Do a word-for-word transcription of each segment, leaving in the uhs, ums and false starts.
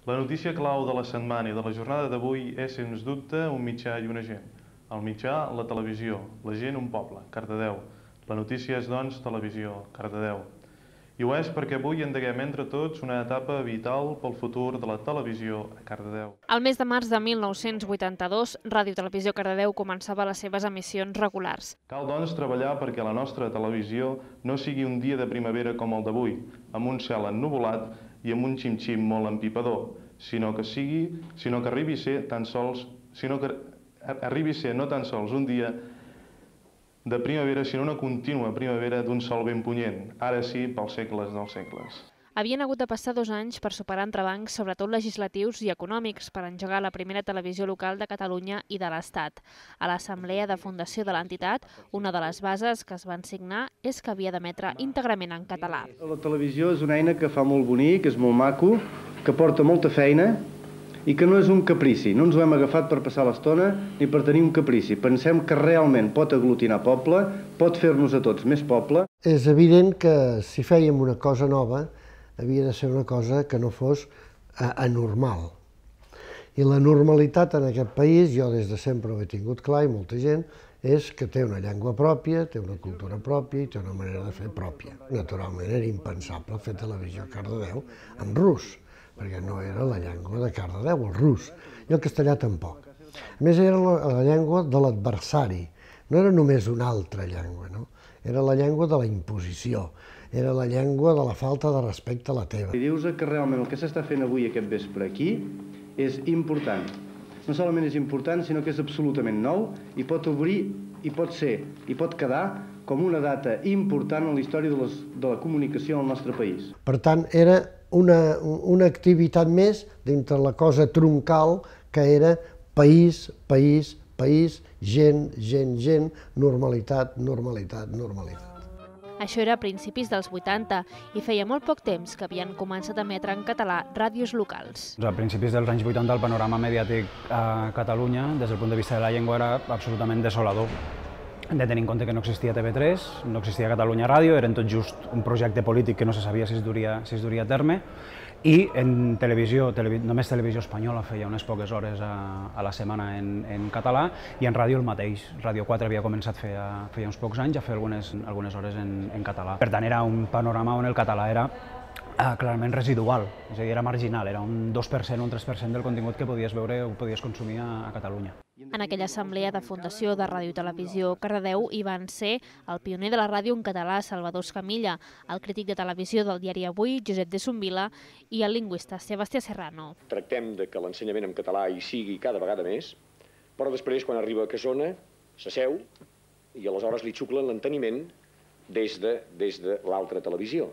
La notícia clau de la setmana i de la jornada d'avui és, sens dubte, un mitjà i una gent. El mitjà, la televisió. La gent, un poble, Cardedeu. La notícia és, doncs, televisió, Cardedeu. I ho és perquè avui endeguem entre tots una etapa vital pel futur de la televisió a Cardedeu. El mes de març de mil nou-cents vuitanta-dos, Ràdio Televisió Cardedeu començava les seves emissions regulars. Cal, doncs, treballar perquè la nostra televisió no sigui un dia de primavera com el d'avui, amb un cel ennuvolat i amb un xim-xim molt empipador, sinó que sigui, sinó que arribi a ser tan sols, sinó que arribi a ser no tan sols un dia de primavera, sinó una contínua primavera d'un sol ben punyent, ara sí, pels segles dels segles. Havien hagut de passar dos anys per superar entrebancs, sobretot legislatius i econòmics, per engegar la primera televisió local de Catalunya i de l'Estat. A l'assemblea de fundació de l'entitat, una de les bases que es van signar és que havia d'emetre íntegrament en català. La televisió és una eina que fa molt bonic, és molt maco, que porta molta feina i que no és un caprici. No ens ho hem agafat per passar l'estona ni per tenir un caprici. Pensem que realment pot aglutinar poble, pot fer-nos a tots més poble. És evident que si fèiem una cosa nova, havia de ser una cosa que no fos anormal. I la normalitat en aquest país, jo des de sempre ho he tingut clar i molta gent, és que té una llengua pròpia, té una cultura pròpia i té una manera de fer pròpia. Naturalment era impensable fer televisió a Cardedeu en rus, perquè no era la llengua de Cardedeu, el rus, i el castellà tampoc. A més, era la llengua de l'adversari, no era només una altra llengua, no? Era la llengua de la imposició, era la llengua de la falta de respecte a la teva. I dius que realment el que s'està fent avui aquest vespre aquí és important. No solament és important, sinó que és absolutament nou i pot obrir, i pot ser, i pot quedar com una data important en la història de, les, de la comunicació al nostre país. Per tant, era una, una activitat més dintre la cosa troncal que era país, país, país, gent, gent, gent, normalitat, normalitat, normalitat. Això era a principis dels vuitanta i feia molt poc temps que havien començat a emetre en català ràdios locals. A principis dels anys vuitanta el panorama mediàtic a Catalunya, des del punt de vista de la llengua, era absolutament desolador. Hem de tenir en compte que no existia T V tres, no existia Catalunya Ràdio, eren tot just un projecte polític que no se sabia si es duria, si es duria a terme, i en televisió, televi, només Televisió Espanyola feia unes poques hores a, a la setmana en, en català, i en ràdio el mateix. Ràdio quatre havia començat feia, feia uns pocs anys a fer algunes, algunes hores en, en català. Per tant, era un panorama on el català era Uh, clarament residual, és a dir, era marginal, era un dos per cent o un tres per cent del contingut que podies veure o podies consumir a, a Catalunya. En aquella assemblea de fundació de Ràdio Televisió Cardedeu hi van ser el pioner de la ràdio en català, Salvador Escamilla, el crític de televisió del diari Avui, Josep de Sumbila, i el lingüista Sebastià Serrano. Tractem de que l'ensenyament en català hi sigui cada vegada més, però després, quan arriba a Casona, s'asseu i aleshores li xuclen l'enteniment des de, des de l'altra televisió.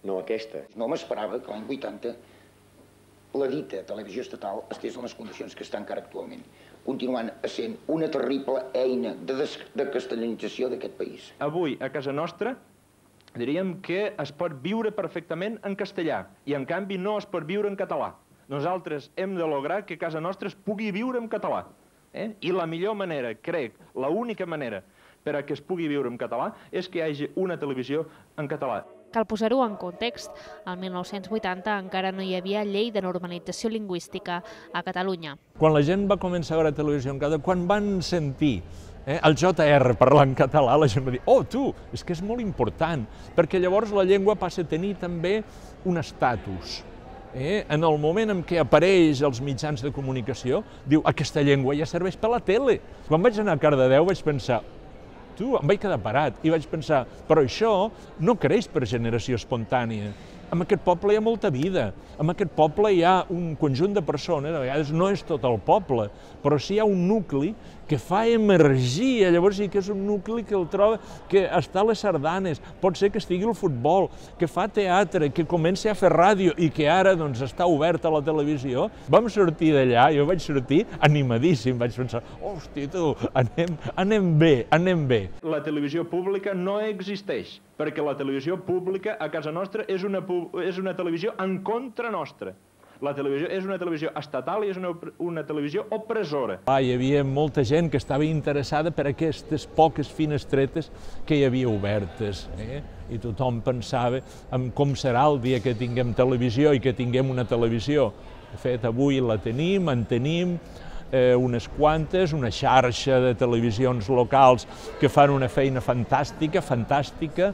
No aquesta. No m'esperava que l'any vuitanta la dita televisió estatal estés en les condicions que està encara actualment, continuant essent una terrible eina de, de castellanització d'aquest país. Avui, a casa nostra, diríem que es pot viure perfectament en castellà i, en canvi, no es pot viure en català. Nosaltres hem de lograr que casa nostra es pugui viure en català. Eh? I la millor manera, crec, l'única manera per a que es pugui viure en català és que hi hagi una televisió en català. Cal posar-ho en context. El mil nou-cents vuitanta encara no hi havia llei de normalització lingüística a Catalunya. Quan la gent va començar a veure televisió en català, quan van sentir eh, el J R parlar en català, la gent va dir, oh, tu, és que és molt important, perquè llavors la llengua passa a tenir també un estatus. Eh? En el moment en què apareix als mitjans de comunicació, diu, aquesta llengua ja serveix per la tele. Quan vaig anar a Cardedeu vaig pensar, tu, em vaig quedar parat i vaig pensar, però això no creix per generació espontània. En aquest poble hi ha molta vida, en aquest poble hi ha un conjunt de persones, a vegades no és tot el poble, però sí hi ha un nucli que fa emergir, llavors sí que és un nucli que el troba, que està a les sardanes, pot ser que estigui al futbol, que fa teatre, que comença a fer ràdio i que ara doncs, està obert a la televisió. Vam sortir d'allà, jo vaig sortir animadíssim, vaig pensar, hosti tu, anem, anem bé, anem bé. La televisió pública no existeix, perquè la televisió pública a casa nostra és una, és una televisió en contra nostra. La televisió és una televisió estatal i és una, una televisió opressora. Ah, hi havia molta gent que estava interessada per aquestes poques finestretes que hi havia obertes. Eh? I tothom pensava en com serà el dia que tinguem televisió i que tinguem una televisió De fet, avui la tenim, en tenim eh, unes quantes, una xarxa de televisions locals que fan una feina fantàstica, fantàstica,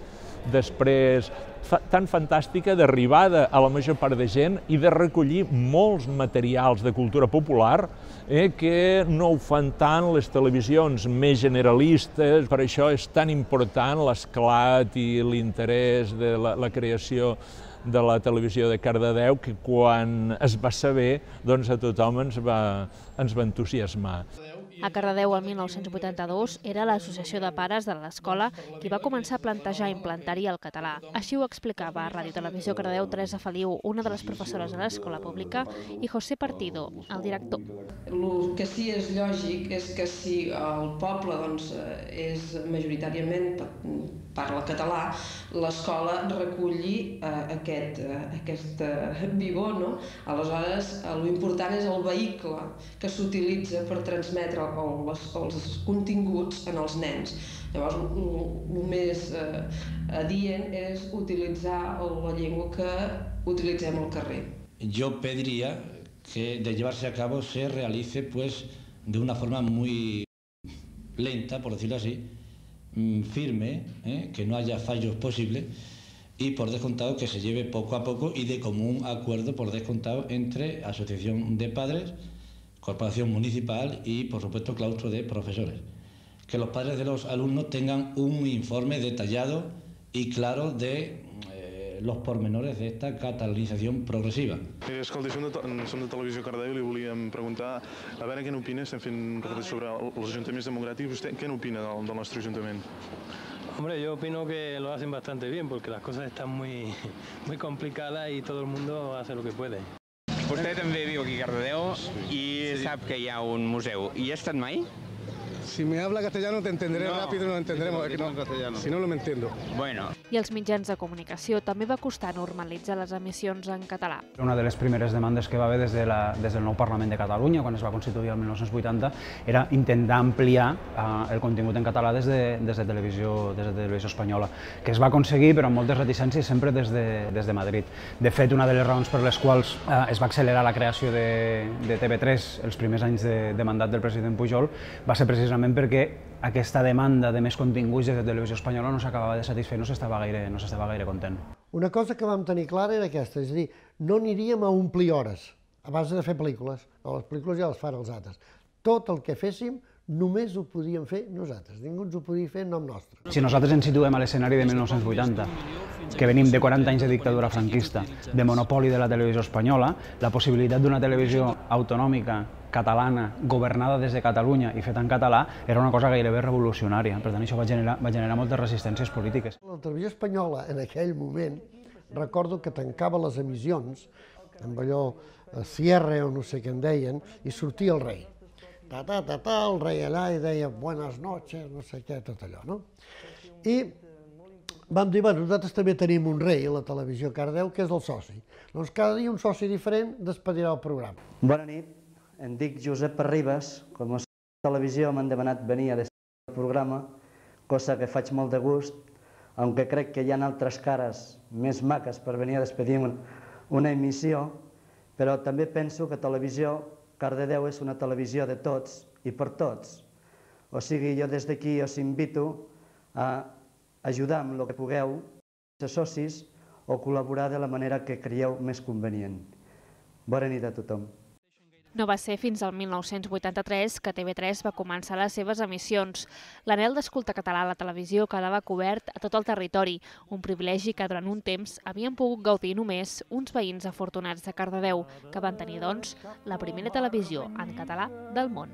després fa, tan fantàstica d'arribada a la major part de gent i de recollir molts materials de cultura popular eh, que no ho fan tant les televisions més generalistes. Per això és tan important l'esclat i l'interès de la, la creació de la televisió de Cardedeu, que quan es va saber, doncs a tothom ens va, ens va entusiasmar. A Cardedeu, el mil nou-cents vuitanta-dos, era l'Associació de Pares de l'Escola qui va començar a plantejar implantar-hi el català. Així ho explicava a Ràdio Televisió Cardedeu Teresa Feliu, una de les professores de l'escola pública, i José Partido, el director. El que sí és lògic és que si el poble doncs, és majoritàriament parla català, l'escola reculli eh, aquest, eh, aquest eh, vigor, no? Aleshores, l'important és el vehicle que s'utilitza per transmetre els, els continguts en els nens. Llavors, el més eh, adient és utilitzar la llengua que utilitzem al carrer. Yo pediría que de llevarse a cabo se realice pues de una forma muy lenta, por decirlo así, firme, ¿eh? que no haya fallos posibles y por descontado que se lleve poco a poco y de común acuerdo por descontado entre asociación de padres, corporación municipal y por supuesto claustro de profesores. Que los padres de los alumnos tengan un informe detallado y claro de eh, los pormenores de esta catalanización progresiva. Mira, escolta, som de, som de Televisió Cardedeu i li volíem preguntar a veure què n'opina, estem fent un reportatge sobre els ajuntaments democràtics, vostè què n'opina del, del nostre ajuntament? Hombre, yo opino que lo hacen bastante bien porque las cosas están muy, muy complicadas y todo el mundo hace lo que puede. Vostè també viu aquí a Cardedeu i sí. sap que hi ha un museu. Hi ha estat mai? Si me habla castellano te entenderé no, rápido y no lo entenderemos. No, no, castellano. Si no, no me entiendo. Bueno. I als mitjans de comunicació també va costar normalitzar les emissions en català. Una de les primeres demandes que va haver des, de la, des del nou Parlament de Catalunya, quan es va constituir el mil nou-cents vuitanta, era intentar ampliar eh, el contingut en català des de, des, de televisió, des de televisió espanyola, que es va aconseguir, però amb moltes reticències, sempre des de, des de Madrid. De fet, una de les raons per les quals eh, es va accelerar la creació de, de T V tres els primers anys de, de mandat del president Pujol va ser precisament perquè aquesta demanda de més continguts de televisió espanyola no s'acabava de satisfer, no s'estava gaire, no s'estava gaire content. Una cosa que vam tenir clara era aquesta, és a dir, no aniríem a omplir hores a base de fer pel·lícules, no, les pel·lícules ja les fan els altres. Tot el que féssim només ho podíem fer nosaltres, ningú ens ho podia fer en nom nostre. Si nosaltres ens situem a l'escenari de mil nou-cents vuitanta, que venim de quaranta anys de dictadura franquista, de monopoli de la televisió espanyola, la possibilitat d'una televisió autonòmica, catalana, governada des de Catalunya i feta en català, era una cosa gairebé revolucionària. Per tant, això va generar, va generar moltes resistències polítiques. La televisió espanyola, en aquell moment, recordo que tancava les emissions, amb allò cierre o no sé què en deien, i sortia el rei. Ta, ta, ta, ta, el rei allà i deia buenas noches, no sé què, tot allò, no? I vam dir, bueno, nosaltres també tenim un rei a la televisió Cardedeu, que és el soci. Doncs cada dia un soci diferent despedirà el programa. Bona nit, em dic Josep Arribas, com a televisió m'han demanat venir a despedir el programa, cosa que faig molt de gust, aunque crec que hi ha altres cares més maques per venir a despedir una emissió, però també penso que Televisió Cardedeu és una televisió de tots i per tots. O sigui, jo des d'aquí us invito a ajudar amb el que pugueu, ser socis o col·laborar de la manera que creieu més convenient. Bona nit a tothom. No va ser fins al mil nou-cents vuitanta-tres que T V tres va començar les seves emissions. L'anhel d'escoltar català a la televisió quedava cobert a tot el territori, un privilegi que durant un temps havien pogut gaudir només uns veïns afortunats de Cardedeu, que van tenir, doncs, la primera televisió en català del món.